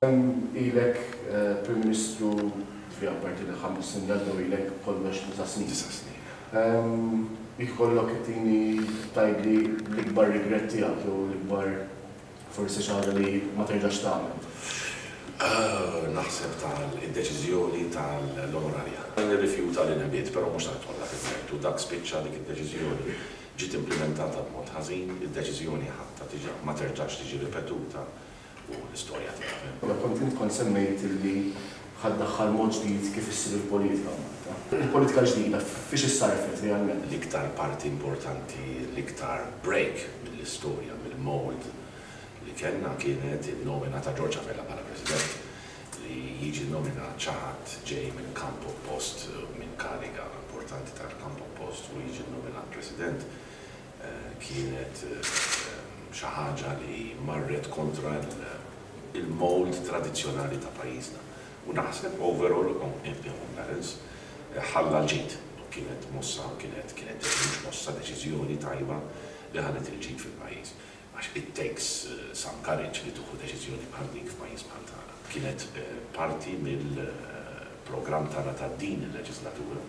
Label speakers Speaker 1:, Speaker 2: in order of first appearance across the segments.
Speaker 1: Ilek Prim Ministru, ġifieri apparti l-5 snin li għaddew ilek b'kollox 9 snin.
Speaker 2: 9 snin.
Speaker 1: Jekk ikollok ittini tgħidli l-ikbar regret tiegħek jew l-ikbar forsi xi ħaġa li ma terġax tagħmel.
Speaker 2: Naħseb tal-deċiżjoni tal-onorarja. Nirrifjuta li nibgħid, però mhux se nidħol dak il-mertu. Dak spiċċa dik id-deċiżjoni ġiet implimentata b'mod ħażin, id-deċiżjoni ħatta tiġa ma terġax tiġi ripetuta u l-istorja tiegħek.
Speaker 1: Kont int kont semmejt illi ħa ddaħħal mod ġdid kif issir il-politika f'Malta. Il-politika l-ġdida fiex issarrfet realment?
Speaker 2: L-iktar parti importanti, l-iktar break mill-istorja, mill-mould li kellna kienet in-nomina ta' George Abela bħala President. Li jiġi nominat xi ħadd ġej minn kamp oppost, minn kariga importanti tal-kamp oppost u jiġi nominat President kienet xi ħaġa li marret kontra il-mould tradizzjonali ta' pajjiżna. U naħseb overall on balance ħalla l-ġid. Kienet mossa, kienet mhux mossa, deċiżjoni tajba li ħallet il-ġid fil-pajjiż. Għax it takes some courage li tieħu deċiżjoni bħal dik f'pajjiż bħal tagħna. Kienet parti mill-programm tagħna ta' din il-leġislatura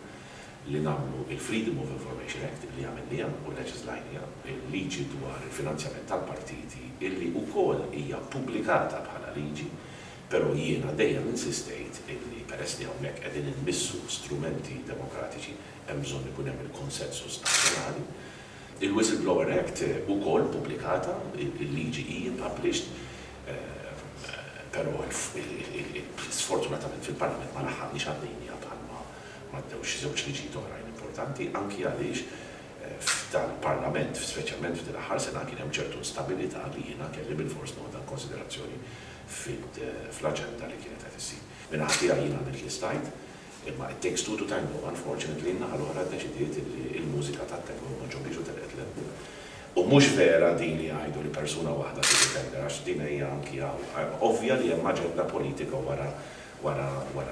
Speaker 2: li nagħmlu il-Freedom of Information Act li għamilniha u leġislajniha, il-liġi dwar il-finanzjament tal-partiti illi wkoll hija pubblikata bħala liġi, però jiena dejjem insistejt illi peress li hawnhekk qegħdin inmissu strumenti demokratiċi hemm bżonn ikun hemm il-konsensus nazzjonali. Il-Whistleblower Act ukoll pubblikata, il-liġi hija published, però sfortunatament fil-Parlament ma laħħaqniex għaddejniha bħalma m'għaddewx xi żewġ liġijiet oħrajn importanti, anki għaliex f'dal-Parlament, speċjalment f'din l-aħħar sena, kien hemm ċertu instabilità li jiena kelli bilfors noħodha konsiderazzjoni fl-aġenda li kienet qed issir. Min-naħa tiegħi jiena għamilt li stajt, imma it takes two to tango, unfortunately, n-naħa l-oħra ddeċidiet li l-mużika tat-tango ma ġobhiex u telqet 'l hemm. U mhux vera din li jgħidu li persuna waħda tieħu tender, għax din hija anki hawn ovvja li hemm aġenda politika wara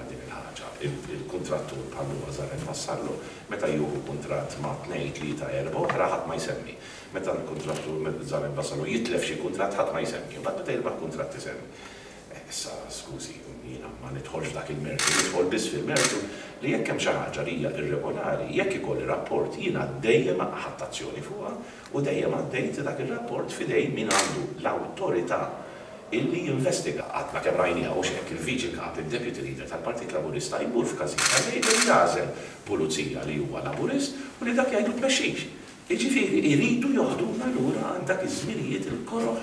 Speaker 2: din il-ħaġa. Il-kuntrattur bħal huwa Zaren Vassallo, meta jieħu kuntratt ma' tnejn, tlieta, erba' oħra ħadd ma jsemmi. Meta l-kuntrattur Zaren Vassallo jitlef xi kuntratt ħadd ma jsemmi, imbagħad meta jirbaħ kuntratt isemmi. Issa, skużi, jiena ma nidħolx f'dak il-mertu, nidħol biss fil-mertu li jekk hemm xi ħaġa li hija irregolari, jekk ikolli rapport jiena dejjem ħadt azzjoni fuqha u dejjem għaddejt dak ir-rapport f'idejn min għandu l-awtorità illi jinvestiga. Għadna kemm rajniha hux hekk, il-Viċi Kap, id-Deputy Leader tal-Partit Laburista jmur f'każin tal-Labour jagħżel pulizija li huwa Laburist u li dak jgħidlu tmexxix. Jiġifieri jridu joħduna lura għand dak iż-żminijiet il-koroh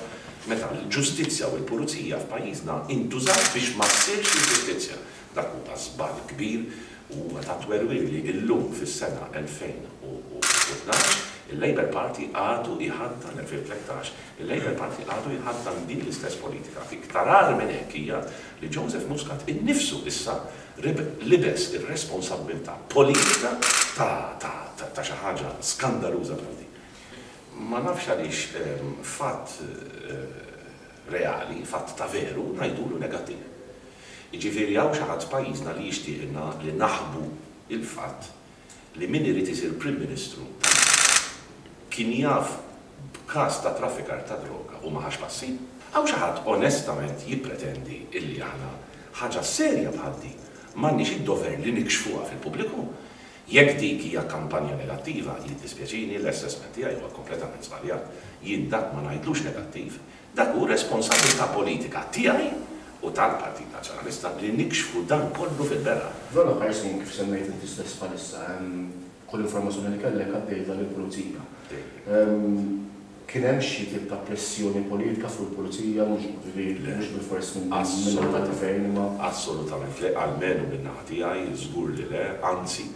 Speaker 2: meta l-ġustizzja u l-pulizija f'pajjiżna intużat biex ma ssirx il-ġustizzja. Dak huwa żball kbir u huwa ta' twerwir li illum fis-sena 2012 il-Labour Party għadu jħaddan, 2013, il-Labour Party għadu jħaddan din l-istess politika. Iktar agħar minn hekk hija li Joseph Muscat innifsu issa libes ir-responsabbiltà politika ta' xi ħaġa skandaluża bħal din. Ma nafx għaliex fatt reali, fatt ta' veru, ngħidulu negattiv. Jiġifieri hawn xi ħadd f'pajjiżna li jixtieqna li naħbu il-fatt li min irid isir Prim Ministru ta' Malta kien jaf b'każ ta' traffikar ta' droga u ma ħax passi? Hawn xi ħadd onestament jippretendi illi aħna ħaġa serja bħal din m'għandniex id-dover li nikxfuha fil-pubbliku? Jekk dik hija kampanja negattiva, jiddispjaċini, l-assessment tiegħi huwa kompletament żbaljat. Jien dak ma ngħidlux negattiv. Dak hu responsabbiltà politika tiegħi u tal-Partit Nazzjonalista li nikxfu dan kollu fil-beraħ.
Speaker 1: F'dawn l-aħħar snin, kif semmejt inti stess bħalissa, kull informazzjoni li kellek għaddejtha lill-pulizija. Kien hemm xi tip ta' pressjoni politika fuq il-pulizija, mhux ġifieri mhux bilfors minn naħa tal-gvern imma.
Speaker 2: Assolutament le, almenu min-naħa tiegħi żgur li le, anzi,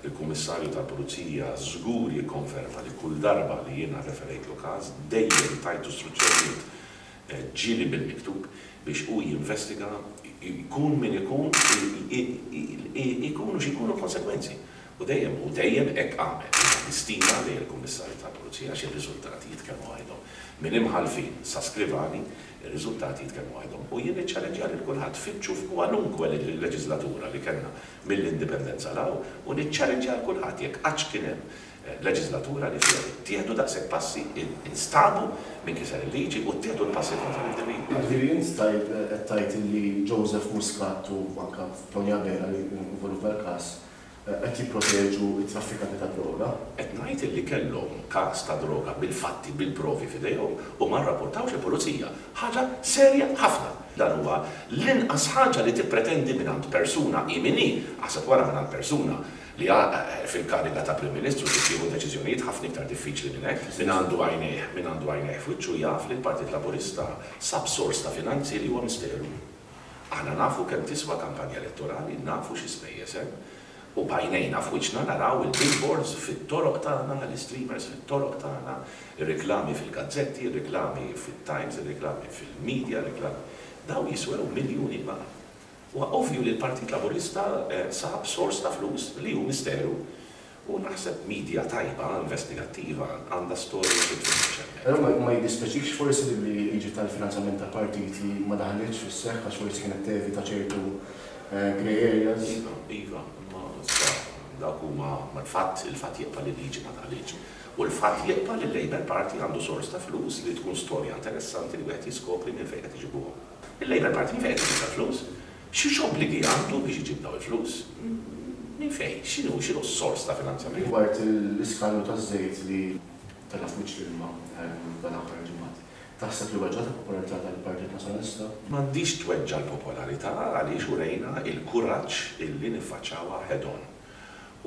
Speaker 2: il-Kummissarju tal-Pulizija żgur jikkonferma li kull darba li jiena rreferejtlu każ dejjem tajtu struzzjonijiet ġieli bil-miktub biex hu jinvestiga jkun min ikun ikunu x'ikunu l-konsegwenzi. U dejjem u dejjem hekk għamel. Jiena għandi stima lejn il-Kummissarju tal-Pulizija għax ir-riżultati jitkellmu waħedhom. Minn imħallfin sa skrivani, ir-riżultati jitkellmu waħedhom. U jien niċċallenġja lil kulħadd, fittxu f'kwalunkwe leġislatura li kellna mill-Indipendenza 'l hawn u niċċallenġja lil kulħadd jekk qattx kien hemm Leġiżlatura li fiha ttieħdu daqshekk passi, instabu min kiser il-liġi u ttieħdu l-passi kontra l-individwi.
Speaker 1: Jiġifieri int tgħid qed tgħid illi Joseph Muscat u anke Tony Abela li involut f'dal-każ qed jipproteġu t-traffikanti tad-droga?
Speaker 2: Qed ngħid illi kellhom każ ta' droga bil-fatti, bil-provi f'idejhom u ma rrapportawx il-pulizija. Ħaġa serja ħafna. Dan huwa l-inqas ħaġa li tippretendi mingħand persuna hi min hi, aħseb wara mingħand persuna li fil-kariga ta' Prim Ministru trid tieħu deċiżjonijiet ħafna iktar diffiċli minn hekk. Min għandu għajnejh, min għandu għajnejh f'wiċċu jaf li l-Partit Laburista sab sors ta' finanzi li huwa misteru. Aħna nafu kemm tiswa kampanja elettorali, nafu xi spejjeż hemm, u b'għajnejna f'wiċċna naraw il-billboards fit-toroq tagħna, l-istreamers fit-toroq tagħna, ir-riklami fil-gazzetti, ir-riklami fit-Times, ir-riklami fil-media, ir-riklami. Dawn jiswew miljuni kbar. Huwa ovvju li l-Partit Laburista sab sors ta' flus li hu misteru u naħseb media tajba, investigattiva, għandha storja xi tfittex hemmhekk.
Speaker 1: Però ma jiddispjaċikx forsi li l-liġi tal-finanzjament tal-partiti ma daħlitx fis-seħħ għax forsi kienet tevita ċertu grey areas?
Speaker 2: Iva, iva, imma issa dawk huma, l-fatt, il-fatt jibqa' li l-liġi ma daħlitx. U l-fatt jibqa' li l-Labour Party għandu sors ta' flus li tkun storja interessanti li wieħed jiskopri minn fejn qed iġibuhom. Il-Labour Party minn fejn qed iġib dal-flus? X'obbligi għandu biex iġib dawn il-flus? Minn fejn? X'inhu x'inhu s-sors ta' finanzjament?
Speaker 1: Rigward l-iskandlu taż-żejt li tela' f'wiċċ l-ilma dan l-aħħar ġimgħat, taħseb li weġġgħet il-popolarità tal-Partit Nazzjonalista?
Speaker 2: M'għandhiex tweġġa' l-popolarità għaliex urejna l-kuraġġ illi niffaċċawha head on.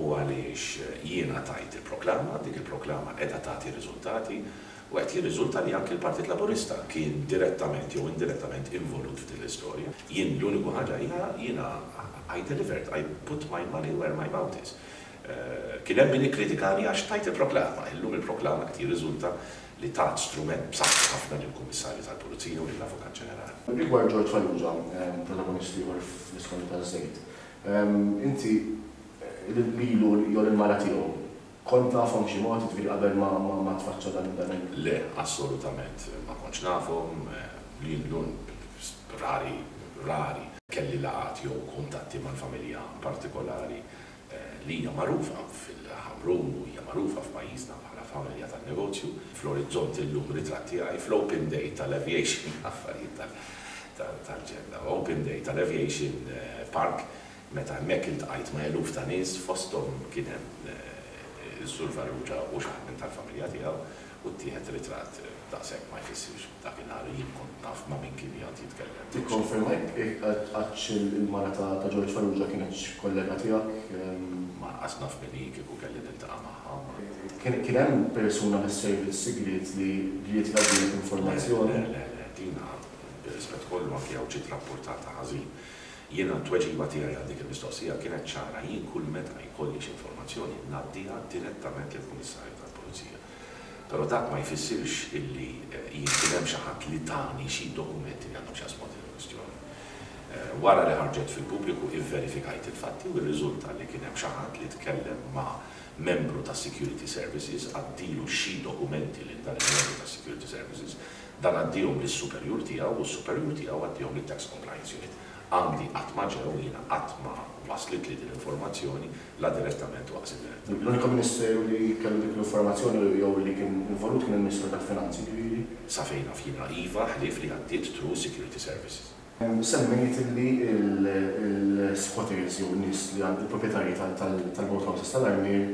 Speaker 2: U għaliex jiena tajt il-proklama, dik il-proklama qiegħda tagħti riżultati u qed jirriżulta li anki l-Partit Laburista kien direttament jew indirettament involut f'din l-istorja. Jien l-uniku ħaġa hija jiena I delivered, I put my money where my mouth is. Kien hemm min ikkritikani għax tajt il-proklama, illum il-proklama qed jirriżulta li tat strument b'saħħtu ħafna lill-Kummissarju tal-Pulizija u lill-Avukat Ġenerali.
Speaker 1: Rigward George Farrugia, protagonist ieħor fl-iskandlu taż-żejt, inti lilu jew lill-mara tiegħu kont tafhom b'xi mod, jiġifieri qabel ma ma tfaċċa dan dan il.
Speaker 2: Le, assolutament ma kontx nafhom, jien l-un rari, rari kelli laqgħat jew kuntatti mal-familja partikolari li hija magħrufa fil-Ħamrun u hija magħrufa f'pajjiżna bħala familja tan-negozju. Fl-orizzont illum ritratt tiegħi fl-open day tal-aviation, affarijiet tal-ġenn, open day tal-aviation park Meta hemmhekk iltqajt ma' eluf ta' nies, fosthom kien hemm is-Sur Farrugia u xi ħadd minn tal-familja tiegħu, u ttieħed ritratt. Daqshekk ma jfissirx dakinhar jien kont naf ma' min kien qiegħed jitkellem.
Speaker 1: Tikkonferma jekk qattx il-mara ta' George Farrugia kinetx kollega tiegħek?
Speaker 2: Ma anqas naf min hi, kieku kelli niltaqa' magħha.
Speaker 1: Kien hemm persuna mis-servizz sigriet li ried jgħaddilek informazzjoni?
Speaker 2: Le, le, le, dina, bir-rispett kollu anki hawn ġiet rappurtata ħażin. Jiena t-tweġiba tiegħi għal dik il-mistoqsija kienet ċara, jien kull meta jkolli xi informazzjoni ngħaddiha direttament lill-Kummissarju tal-Pulizija. Però dak ma jfissirx illi jien kien hemm xi ħadd li tani xi dokumenti li għandhom x'jaqsmu ma' din il-kwistjoni. Wara li ħarġet fil-pubbliku ivverifikajt il-fatti u rriżulta li kien hemm xi ħadd li tkellem ma' membru tas-Security Services, għaddilu xi dokumenti lil dan il-membru tas-Security Services, Dan għaddiehom lis-superjur tiegħu u s-superjur tiegħu għaddiehom lit-Tax Compliance Unit. Għandi qatt ma ġew, jiena qatt ma waslitli din l-informazzjoni, la direttament u aqs indirettament.
Speaker 1: L-unika ministeru li kellu dik l-informazzjoni jew li kien involut kien il-Ministeru tal-Finanzi, jiġifieri?
Speaker 2: Sa fejn naf jiena iva, ħlief li għaddiet through Security Services.
Speaker 1: Semmejt li l-squatters jew in-nies li għand il-proprjetarji tal-boathouses tal-Armier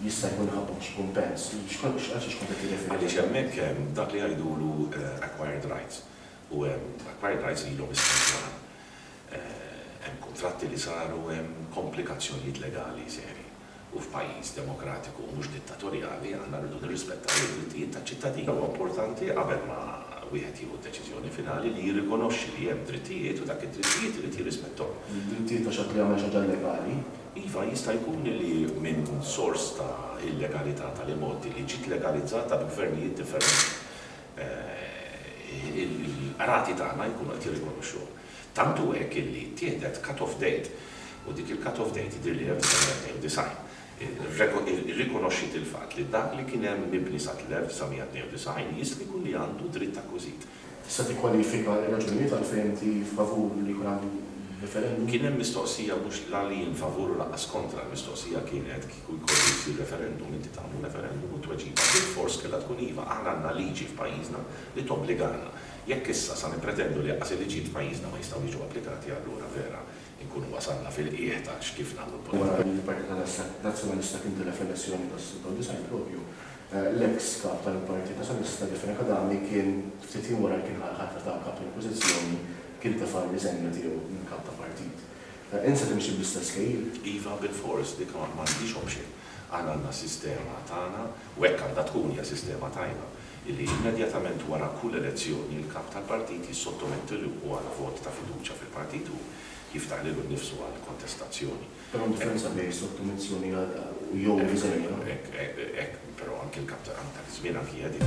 Speaker 1: jista' jkun ħaqqhom xi kumpens. Għal xiex kont qed tirreferi?
Speaker 2: Għaliex hemmhekk hemm dak li jgħidulu acquired rights u hemm acquired rights li ilhom is-snin twal. Hemm kuntratti li saru, hemm komplikazzjonijiet legali serji. U f'pajjiż demokratiku u mhux dittatorjali aħna rridu nirrispettaw id-drittijiet taċ-ċittadini. Huwa importanti qabel ma wieħed jieħu d-deċiżjoni finali li jirrikonoxxi li hemm drittijiet u dak id-drittijiet irid jirrispetthom.
Speaker 1: Drittijiet ta' xi ħadd li jagħmel xi ħaġa illegali.
Speaker 2: Iva, jista' jkun li minn sors ta' illegalità tal-imgħoddi li ġiet legalizzata b'gvernijiet differenti, il-qrati tagħna jkunu qed jirrikonoxxuha. Tant hu hekk illi ttieħdet cut-off date u dik il-cut-off date jidhirli 1992 irrikonoxxiet il-fatt li dak li kien hemm mibni sa 1992 jista' jkun li għandu dritt akkwiżit.
Speaker 1: Tista' tikkwalifika r-raġunijiet għalfejn inti favur li jkun hemm. Referendum?
Speaker 2: Kien hemm mistoqsija mhux la li jien favur u lanqas kontra, l-mistoqsija kienet kieku jkollu jsir referendum inti tagħmlu referendum u t-tweġiba bilfors kellha tkun iva. Aħna għandna liġi f'pajjiżna li tobbligana. Jekk issa sa nippretendu li anqas il-liġijiet f'pajjiżna ma jistgħu jiġu applikati allura vera inkunu wasalna fil-qiegħ ta' x'kif nagħmlu
Speaker 1: Wara
Speaker 2: l-politika.
Speaker 1: li l-Partit Nazzjonalista kien tilef l-elezzjoni tas-96 propju, l-eks kap tal-Partit Nazzjonalista Daphne Cadami kien ftit jiem wara li kien ħa l-ħatra ta' kap tal-Oppożizzjoni kien tefa' r-riżenja tiegħu minn kap ta' partit. Int se timxi bl-istess kejl?
Speaker 2: Iva bilfors, dik m'għandix option. Aħna għandna sistema tagħna, u hekk għandha tkun, hija sistema tajba, illi immedjatament wara kull elezzjoni l-kap tal-partit jissottometti ruħu għal vot ta' fiduċja fil-partit u jiftaħ lilu nnifsu għal kontestazzjoni.
Speaker 1: Però hemm differenza bejn sottomissjoni u jew
Speaker 2: Hekk,
Speaker 1: riżenja.
Speaker 2: hekk, hekk, però anki l-kap ta' dak iż-żmien anki Eddie.